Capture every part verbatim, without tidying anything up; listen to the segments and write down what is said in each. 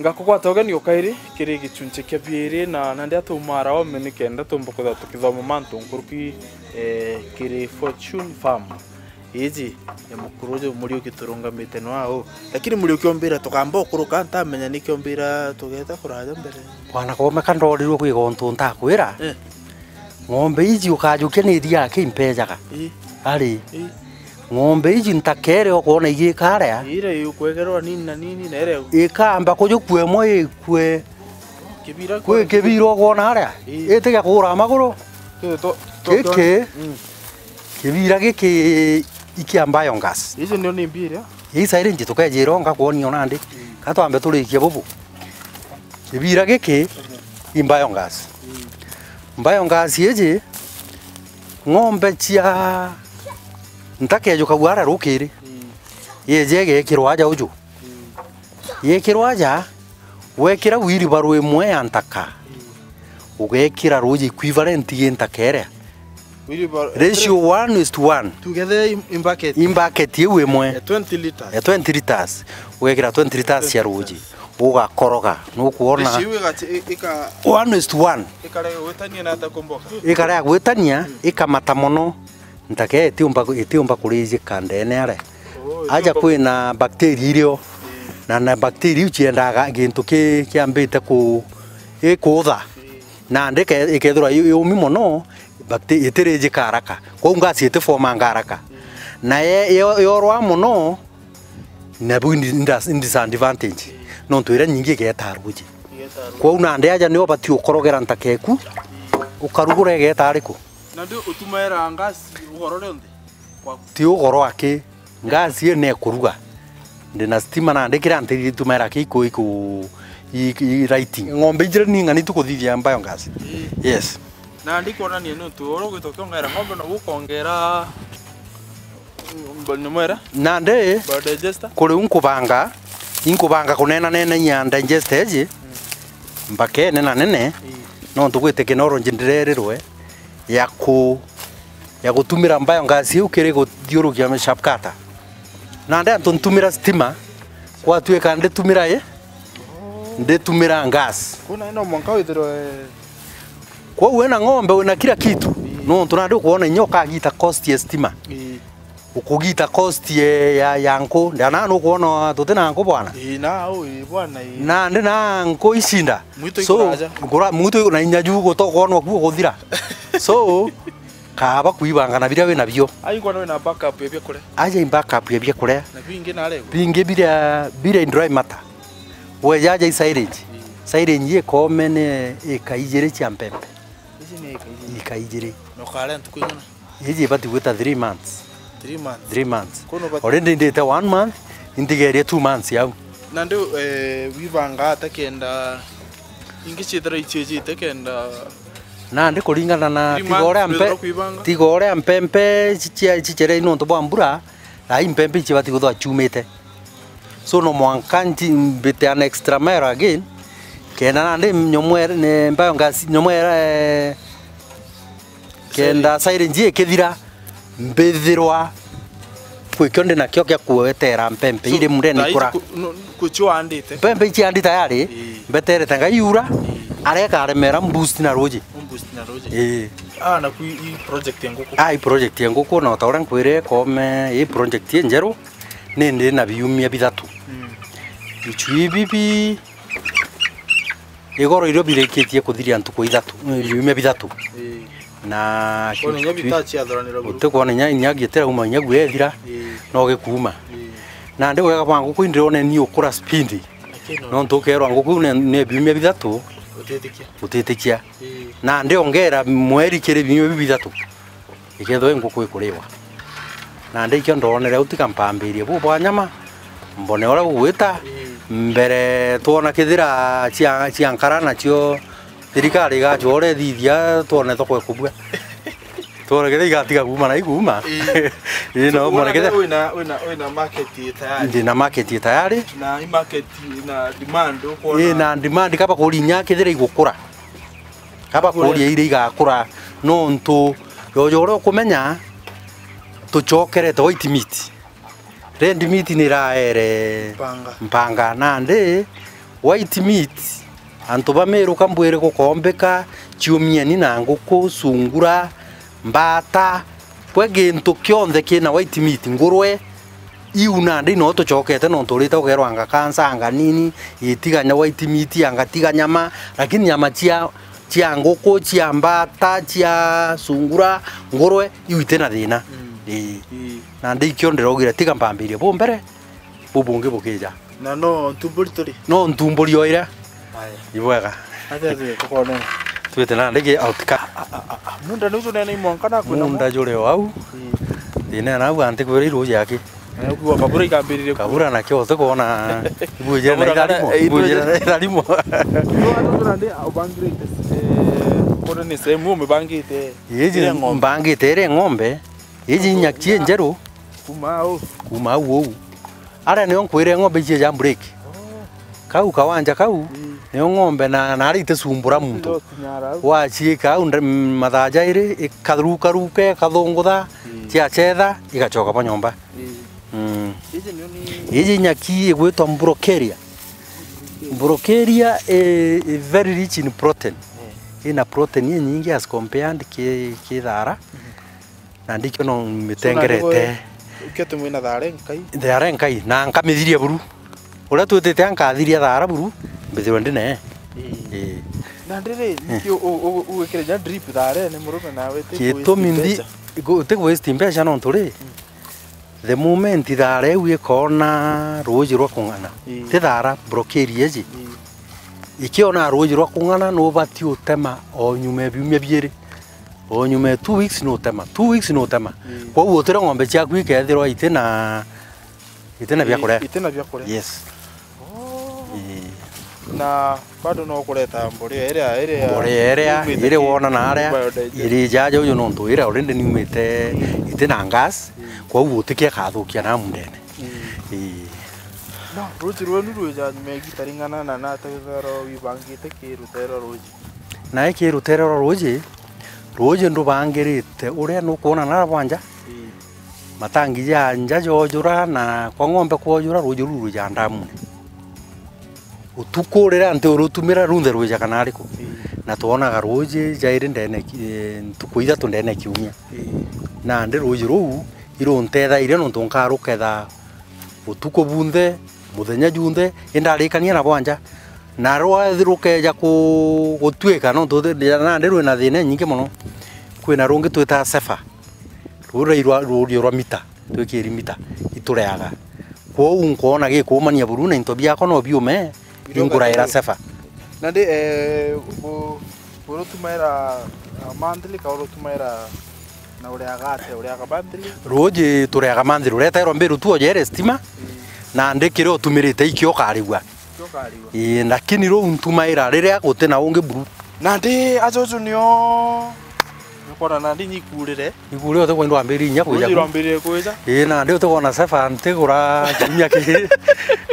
Ngakugwata ugeni o kairi kiri gichunchi kia biiri, na nandi atumaara ome nikenda tumba kwithirwa tukithoma mantu nkuruki, eh, kiri Fortune Farm. Iji ya mukuru uju Muriuki turungamite nwa uu. Lakini Muriuki ombira tukamba ukuruka, ntamenya niki ombira tugeta kuraja mbere. Bwana Koome, ka ndorirwe kwi gontu ntakwira. Eh. Ng'ombe iji ukajukia ni iria ki impejaga. Ii. Ari. Ii. Ng'ombe iji ntakere ukwona igika aria. Ira ikwegerwa nini na nini na ira ikamba kujukua imwe ikue. Kibira kwi kibira ukwona aria. Ii. Itige kuura maguru. Kiri to, to, giki. Mm. Kibira giki ikia biogas. Icio ndio ni mbira. Ii silage tukejira ngakwoni o nandi. Mm. Ka twambe turikie bubu. Kibira giki i biogas. Mm. Biogas iji ng'ombe cia ntakejuka guara rukiri. Mm. Yeje igekirwa aja uju. Mm. Yekirwa aja, wekira wheelbarrow imwe ya ntaka, ugekira ruuji equivalent gi ntaka iria. Wheelbarrow, ratio one is to one. Tugethe in, in bucket. In bucket iu imwe. Ya twenty liters. Ya twenty liters. Ugekira twenty liters cia ruuji. Ugakoroga. Nukwona? Ratio iu ika, ika, one is to one. Ikare gwitania na ata kumboka? Ikare ya gwitania, ikamata mono. Ntaka itiumba, itiumba kurijika ndeene aria. Oh, aja itiumba kwina bacteria irio. Mm. Na, na bacteria iu ciendaga gintu ki, kiambite ku, ikuutha. Mm. Nandi ike-, ikethirwa yu-, yumi mono, bacte-, itirijika haraka. Kwou gas itifomanga haraka. Mm. Na ye-, yo-, yorwa mono, nabu indi-, indas-, in disadvantage. Mm. Nontu iria nyingi igeeta ruuji. Igeeta ruuji. Kwou nandi aja nio ubati ukorogera ntaka eku, mm, ukarugura igeeta ariku? Nandi utumaira gas ugoro rionthe? Ti ugoro aki, gas ii ni ikuruga. Ndina stima nandi kiria nteithia itumaira ki iku, iku, i, i lighting. Ng'ombe ijiri ni ng'ani tukuthithia biogas. Ii. Yes. Nandi kwonania ni untu uria ugwita ukiongeera ng'ombe, noguo ukongera, mm, nyamwera? Nandi, biodigester? Kuri u nkubanga, inkubanga kunena nena ya digester iji, mm, mbakene na nene, ii, nontu gwi technology ndirerirwe ya ku, ya gutumira biogas iu kiri guthiurukia sharp cutter. Nandi antu ntumira stima, gwatuika nditumira i, nditumira gas. Kuna ino mwanka withirwe. Kwou wina ng'ombe, wina kila kitu. Ii. Nontu nandi ukwona inya ukagita cost ya stima. Ii. Ukugita cost ye-, ya, ya nku. Ndana nukwona tuti na nku bwana? Ii, na, ui, bwana, ii. Nandi na nku icinda. Mwitu. So, ikuraja. Nkura-, mwitu na inya ju gutokwonwa kuo guthira. So, kaaba kuibanga na biria wina bio. Ai, nkona wina backup ya biakuria. Aja i backup ya biakuria. Na bingi na rego. Bingi biria, biria in dry matter. Weja aja i silage. Ii. Silage ikoome ni ika ijiri cia mpempe. Ici ni ika ijiri. Ika ijiri. Na ukarea ntuku ing'ana? Iji ibati gwita three months. Three months. Three months. Kono bati- Already ndite one month, intigerie two months yau. Nandi, eh, wibanga ata kenda ingi ciithira iciijite kenda? Nandi kuringana na three months tiga uria mpe-, withirwa kwibanga? Tiga uria mpempe cicia-, cicere nontu bwa mbura, na i mpempe ici ibati gwithirwa ciumite. So no mwanka nti-, mbite an extra mile again, kenda nandi nyomwere, ne, biogas, nyomwere, eh, kenda silage ikithira, mbithirwa kwikio ndi nakio kia kuetera mpempe. So, iri mundene thaa ici ikura. Ku-, no, kucio andite? Mpempe ici andi tayari, ii, mbeterete Ngai iura, ii, aria ikaremera mboost na ruuji. Mboost na ruuji. Ii. Ah, na ku i project ya nguku? Ah, i project ya nguku, na o ta uria nkwire, koome, i project injeru, ni ndi na biumia bithatu. Mm. Bichu ibi bi-, igoro irio birikitie kuthiria ntuku ithatu, eh, biumia bithatu. Ii. Na kono inya bitaciathuranira buru. Utikwona inya, inya gitirauma inya gwethira, ii, no gikuuma. Ii. Nandi wega bwa nguku indirone ni ukura speed. Lakini no. Nontu ukerwa nguku ne, ne biumia bithatu, utitikia. Utitikia. Ii. Nandi ongera mweri kiri biumia biu bithatu. Ikethirwa i nguku ikuriwa. Nandi ikio ndonere au tiga mpambirie buu bwa nyama, mbone uria gugwita. Ii. Mbere twona kethira cia, cia nkara nacio thirikari igacua uria ithithia, twone thoko ikubua. Twone kethira igatiga kuuma na ikuuma. Ii. Ii, no, so, mbone kethira wina, wina, wina market tayari. Ndina market tayari. Na i market na demand ukwona. Ii, na demand kaba kurinya kethira igukura. Kaba kuria iria igakura, nontu jojo uria ukumenya, tucokerete white meat. Red meat ni iraere mpanga. Mpanga, nandi White meat, antu ba Meru ka mbwire gukombika, ciumieni na nguku, sungura, mbata, kwe gintu kionthe kina white meat, ngurwe, iu nandi no tucokete nontu urite ugerwa anga kansa, anga nini, itiganya white meat, anga tiga nyama, lakini nyama cia, cia nguku, cia mbata, cia sungura, ngurwe, iu itina thina. Mm. Ii. Ii. Nandi ikio ndiraugire tiga mpambirie bu mbere, bu bungi bukija. Na no ntumburi turi? No ntumburi o iria. Aya. Ibwega. Atia twi tukonene. Twite na ndigi outcome. Munda ni uju nene imwanka na kwina munda juri o au. Ii. Thina na au anti kwira iru jaki. Na ukiwa kabura ikambiririe ku- Kabura na kio uti kwona. Ibujire na irarimo. Ibujire na irarimo. No, atu tuna ndi ubangirite, eh, kore ni sehemu umibangite. Iji iria ng'ombe. Mbangite iria ng'ombe. Iji nyaki njeru. Kuma au. Kuma au ou. Aria nio nkwire ng'ombe icio ja break. Oh. Kau kawanja kau, mm, nio ng'ombe na, na aria itisumbura muntu. Waciika au nde-, mm, mathaa jairi, ikarukaruka, ikathungutha, mm, ciacetha, igacoka bwa nyomba. Mm. Mm. Iji nyaki igwitwa Brocaria. Brocaria i, i very rich in protein. Mm. Ina protein inyingi as compared ki, ki thara. Mm. Na ndikio no mitengerete. Ukio tumwina thare nkai. Thare nkai, na nkamithiria buru. Uria twitite ankathiria thara buru, mbithirwe ndine. Ii. Ii. Na ndiri, eh, nikio u-, u-, ugwikire ja drip thare ni murume nawe ti gitumi ndi, mbeca. Igu-, ti waste mbeca nontu ri, mm, the moment thara iu ikona ruuji rwa kung'ana, ii, ti thara, brocaria iji. Ii. Ikiona ruuji rwa kung'ana, nubati utema o nyuma ya biumia biiri. O nyuma ya two weeks nutema. Two weeks nutema. Mm. Kwou utire ng'ombe ciaku ikethirwa itina, itina bia kuria. Itina bia kuria. Yes. Oh. Ii. Na bado no kureta mborea iria, iria mborea iria, yumite iria ki-, wona na aria, biodigest. Iri jaja uyu nontu iria already niumite, mm, itina gas, mm, kwou gutikia kathukia na mundene. Mm. Ii. No, ruuji rwenu rwija nyuma ya igita ring'ana na nate uthero wibangite ki rutere ruuji? Nae ki rutere rwa ruuji, ruuji ndubangirite uria nukwona na bwanja. Ii. Matangi ja nja jojura na kwa ng'ombe kwojura, ruuji ruu rwija ndamune. Utuku riria nti urutumira runthe rwijaga nariku? Ii. Na twonaga ruuji jairi ndene ki-, eh, ntuku ithatu ndene kiumia. Ii. Nandi ruuji ruu iruntethaire nontu nkaruketha utuku bunthe, muthenya junthe, indarikania na bwanja. Na rwa rukeja ku-, gutuika, nontu thi-, nandi rwina thina inyingi mono. Kwina rungi twitaga sefa. Ruu rurairwa ruurio rwa mita, twikiri mita, itureaga. Kwou nkoona gikuumania buru na into biakwa no biume, inguraira sefa. Nandi, eh, bu-, burutumaira, ah, monthly ka urutumaira na ureaga atia? Ureaga monthly? Ruuji tureaga monthly, uretairwa mbiru tu ojere stima, mm, nandi kiria utumirite ikio ukarigua. Ikio ukarigua. Ii, lakini ruu ntumaira riria guti na ungi buru. Nandi ajuju nio, nikuona nandi nyikurire. Ikuri uti kwenda wambiririe inya kwija. Ruuji ku rwambiririe kwija. Ii, nandi uti kwona sefa ntigura kiumia kiri.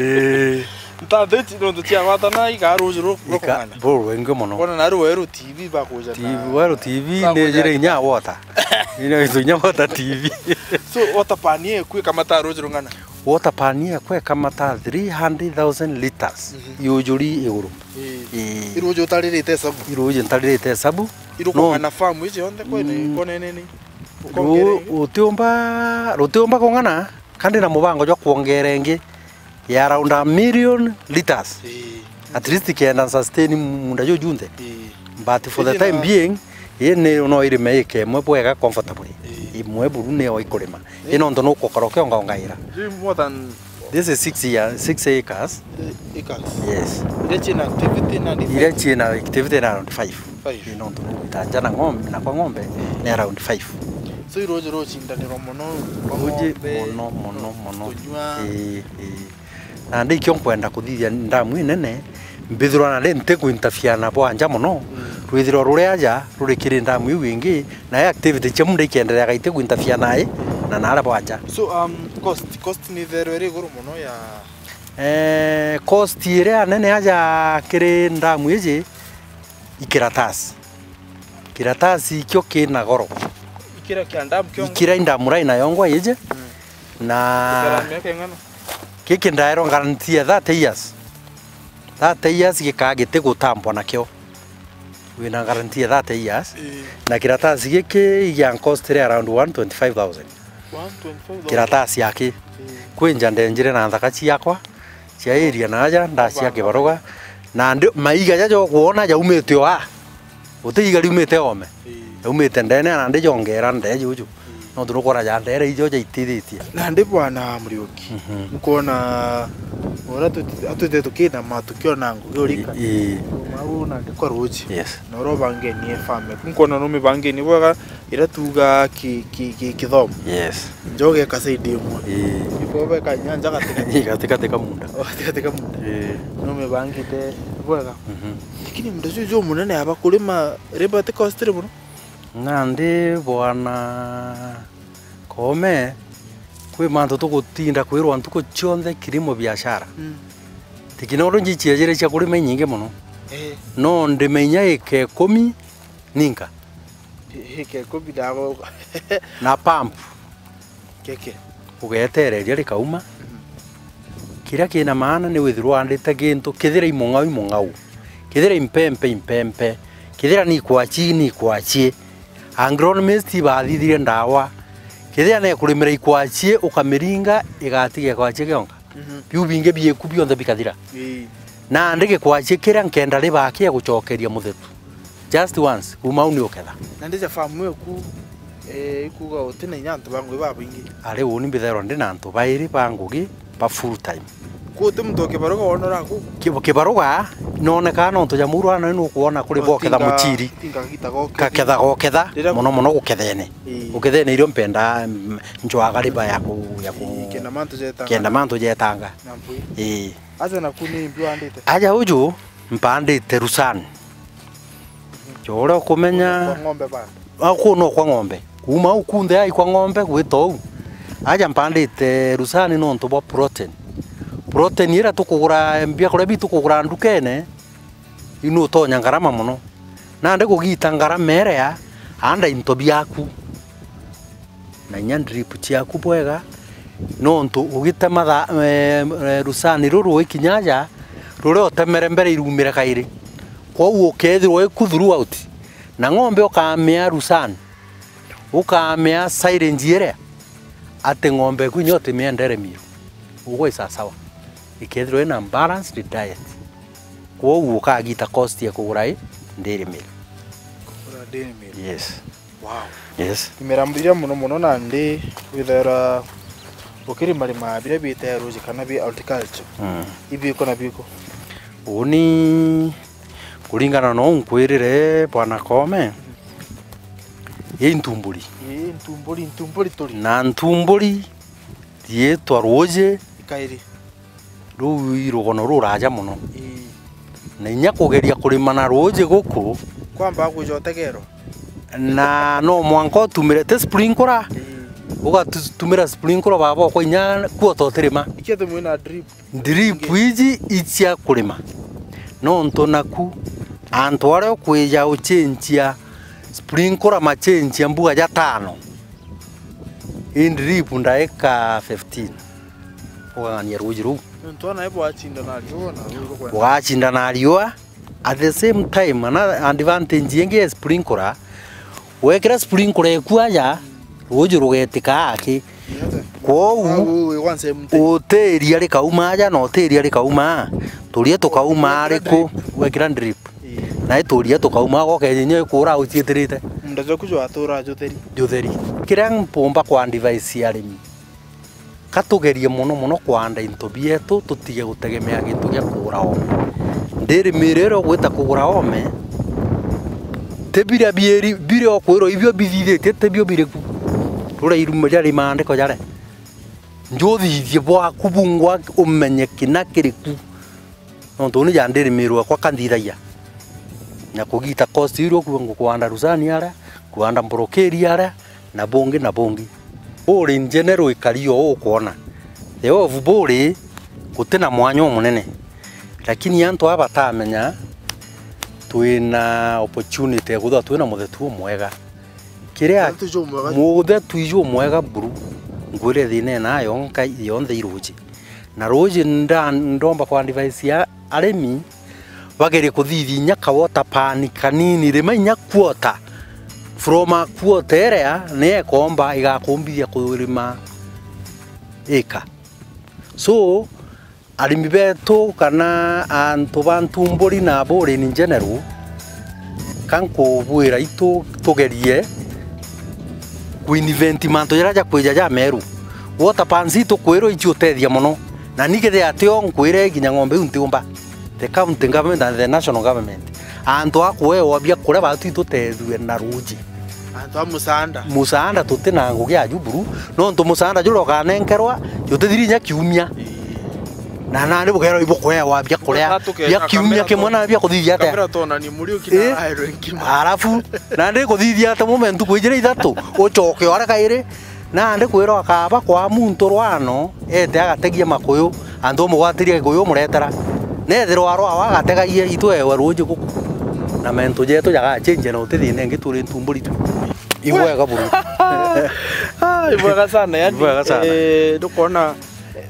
Ii. Ntanthi nontu ciagwatana ikaa ruuji ru-, rukung'ana. Buru rwingi mono. Kwona na rweru T V bakuja na T V, weru T V bakuja ni jire na inya water. Ina itu inya water T V. So, water pan ye kwi kamata ruuji rung'ana? Water pan ye kwe kamata three hundred thousand liters. Mhm. Yujuri iguru. Ii. Ii. Iruuji utaririte hesabu? Iruuji ntaririte hesabu. Irukung'ana farm iji yonthe kwene, mm, kone nini? Ru-, rutiumba, rutiumba kung'ana, kandi na mubango jwa kwongera ingi ya around a million liters. Ii. At least kenda sustain munda juju junthe. Ii. But for the time being, ii ni no irime ika imwe bwega comfortably. Ii. Imwe buru niyo ikurima. Ii. Ii nontu nukukora ukiongaongaira. Is it more than This is six year, six acres. Acres. Yes. Iria ciina activity na defense? Iria ciina activity na around five. Five. Ii nontu nugwita nja na ng'ombe, na kwa ng'ombe ni around five. So, iruuji rucindanirwa mono kwa ng'ombe, mono, mono, mono. Kunyua. Ii, ii. Na ndi ikio nkwenda kuthithia ndamu inene, mbithirwa na ndi nti kuinterfere na bwa nja mono, mm, rwithirwa ruria aja ruri kiri ndamu iu ingi, nayo activity cia munda ikiendereaga iti kuinterfere nae na naria bwa nja. So, um, cost, cost ni itherwe iri iguru mono ya Eh, cost iria nene aja kiri ndamu iji, i kiratasi. Kiratasi ikio kina goro. Ikira kia ndamu kiongo? Ikira i ndamu rai na yongwa iji. Mm. Na ikara miaka ing'ana? Giki ndaerwa guarantee ya thirty years. Thirty years gikaa giti gutambwa nakio. Wina guarantee ya thirty years. Ii. Na kiratasi giki igia cost ri around one twenty-five thousand. One twenty-five thousand. Kiratasi aki. Ii. Kwinja ndenjire na nthaka ciakwa cia area na aja ndacia Kibaruga. Na ndi, maiga jaja ukwona jaumite o aa. Guti iga riumite oome. Ii. Riumite ndene, na ndi jongera ndee juju. Ii. Nontu nukwona ja ndere ijo jaitithitie. Na ndi bwana Muriuki. Mhm. Nukwona uria tuti-, atwite tukinama tukiona ngugi urika. Ii. Mau na ndi kwa ruji. Yes. Na uria ubangenie farm. Nukwona numibangenie bwega iria tuuga ki-, ki-, ki-, kithomo. Yes. Njoge ka side imwe. Ii. Iko beka nyanja gatigati. Gatigati ka munda. Gatigati ka munda. Ii. Numibangite bwega. Mhm. Lakini muntu ucio umunene aba kurima, labour ti cost ri mono? Nandi bwana Koome, kwi mantu tugutinda kwirwa ntuku cionthe kilimo biashara. Mm. Technology ciejire cia kurima inyingi mono. Eh. No ndime inya ika ikumi ninka. I-, ika ikumi ndago. Na pump. Keke. Ugetereria rikauma. Mm. Kiria kina maana ni withirwa wandite gintu, kethira i mung'au, i mung'au. Kethira i mpempe, i mpempe. Kethira ni ikwachi, ni ikwachi. Agronomist ibathithire ndawa. Kethira ni kurimira ikwachi, ukamiringa, igatiga ikwachi gionka. Mhm. Biu bingi bieku bionthe bikathira. Ii. Nandi gikwachi kiria nkenda riba kia gucokeria muthetu. Just once, kuma au ni uketha. Na ndija farm eku, eh, ikuga uti na inya antu ba ngugi babaingi. Ari uni mbithairwa ndi na antu bairi ba ngugi ba full time. Ku uti muntu wa Kibaruga wonora ku? Ki-, Kibaruga nonekaa nontu ja muru ana nukwona kuri boketha muchiri. Tinga gita goke. Kaketha goketha, muno muno gukethene. Ii. Gukethene irio mpenda, mm, njwaga riba ya ku, ya ku. Ii, kenda mantu jetanga. Kenda mantu jetanga. Na mpui. Ii. Aja naku ni mbi wandite? Aja uju, mpandite Rusani. Jo uria ukumenya. Kwa ng'ombe bado? Au kuu no kwa ng'ombe. Kuuma au kunthe ai kwa ng'ombe gwita uu. Aja mpandite Rusani nontu bwa protein. Protein iria tukugura, biakuria biu tukugura ndukene, iu nutonya ngarama mono. Nandi kugita ngarama iria, anda into biaku. Na inya drip ciaku bwega, nontu ugitema tha-, eh, eh, rusani ruru rwikinya aja, ruria utemere mbere irumire kairi. Kwou ukethirwa wiku throughout, na ng'ombe ukamea rusani, ukamea silage iria, ati ng'ombe eku inya utimia dairy meal, ugwe sasawa, ikethirwa ina balanced diet. Kwou ukagita cost ya kugura i dairy meal. Kugura dairy meal. Yes. Wow. Yes. Imera mbiria mono mono nandi withaira ukirima rima biria biite ruji kana bi horticulture. Mm. Ibiku na biku. Uni kuringana na uu nkwirire Bwana Koome, i ntumburi. Ii, ntumburi, ntumburi turi. Na ntumburi riitwa ruji. Ikairi. Ruu i rugono ruraja mono. Ii. Na inya kugeria kurima na ruuji guku. Kwamba kwija utegerwa. Na no mwanka utumire, ti sprinkler? Ii. Ugatumira sprinkler baba okwa inya kuota utirima. Ikia tumwe na drip. Drip iji icia kurima. Nontu naku, antu aria ukwija ucenjia sprinkler macenjia mbuga jatano. I drip ndaika fifteen. Ugang'ania ruuji ruu. Nontu ona ibo wacinda na riua, na ruuji rukwenda. Ugacinda na riua. At the same time, ana advantage ingi ya sprinkler, wekira sprinkler eku aja, ruuji rugetika aki. Kwou, utiria rikauma aja na utiria rikauma, turia tukauma ariku, wekira drip. Ii. Na ituria tukauma, gokeja inya ikura uciitirite. Munda jwaku jwatura jutheri. Jutheri. Kiria mpumba kwa advice ya arimi, ka tugerie mono mono kwanda into bietu, tutige gutegemea gintu gia kugura oome. Ndiri miri iria ugwita kugura oome, ti biria bieri, biria ukwirwa ibio bithithitie, ti bio biriku. Ruria iruma riari maandiko jare. Njuthithie bwaku bungwa umenye kina kiriku. Nontu uni ja ndirimirwe kwa kanthithagia. Na kugita cost iria kuo ngukwanda rusani aria, kwanda mborokeri aria, na bungi na bungi. Buri in general ikari o ukwona. The of buri guti na mwanya umunene. Lakini antu aba batamenya twina opportunity ya kwithirwa twina muthetu umwega. Kiria muthetu iju umwega buru, ngwire thina ina yonka yonthe iruji. Na ruuji nda-, ndomba kwa advice ya Arimi bagerie kuthithia inya ka water pan kanini, rima inya quarter. From a quarter iria ni ekomba igakumbithia kurima ika. So, arimi betu kana antu ba Ntumburi na Aburi in general, ka nkubwira itu tugerie ku invent mantu jaria jakwija ja meru. Water pans itu kwirwa ici utethia mono. Na ni kethira atio nkwire kinya ng'ombe iu ntiumba. The county government and the national government. Antu a kuewa biakuria batu itutethue na ruuji. Antu a musaanda. Musaanda tuti na ngugi ya juburu, nontu musaanda juria ukanenkerwa jutithiri inya kiumia. Ii. Na nandi bukeerwa ibukuewa biakuria bia kiumia kimwe na bia kuthithia atia? Kamera tonani muri ukina. Ii. Aerwe nkima. Arafu, nandi kuthithia atia mume ntuku ijiri ithatu, ucoke ore kairi, nandi kwirwa akaba kwa muntu rwano, ete agategia makuyu, antu umugwatiria gikuyu umuretera. Nethirwa arwawa agategagia itwewe ruuji guku. Na mentu jetu jagachenjia na utithine ingi turi Ntumburi tu. Ibwega buru. Ah, ibwega sana, yani, ibwega sana. Eh, ndukona, eh,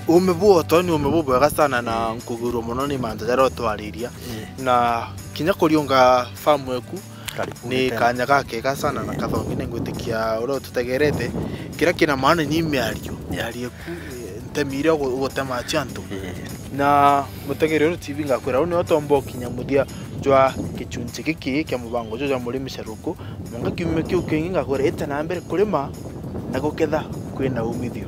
ume bu otoni, ume bubwega sana na nkugurwa mono ni mantu jaria utwariria. Eh. Na kinya kuriunga famu eku, karibu ni tena. Kanya gakega sana na, eh, kathongi ningwitikia uria ututegerete. Kiria kina maana ni miario, yeah, miario eku, eh, ntemi iria ugu-, ugutema cia antu. Eh. Na mutegeri uru T V ngakwira, uu nio tomba ukinya muthia jwa gichunchi giki kia mubango juju jwa Murimi Sharuku. Mwanka kiumia kiu kingi ngakwira, ita na mbere kurima na guketha kwina umithio.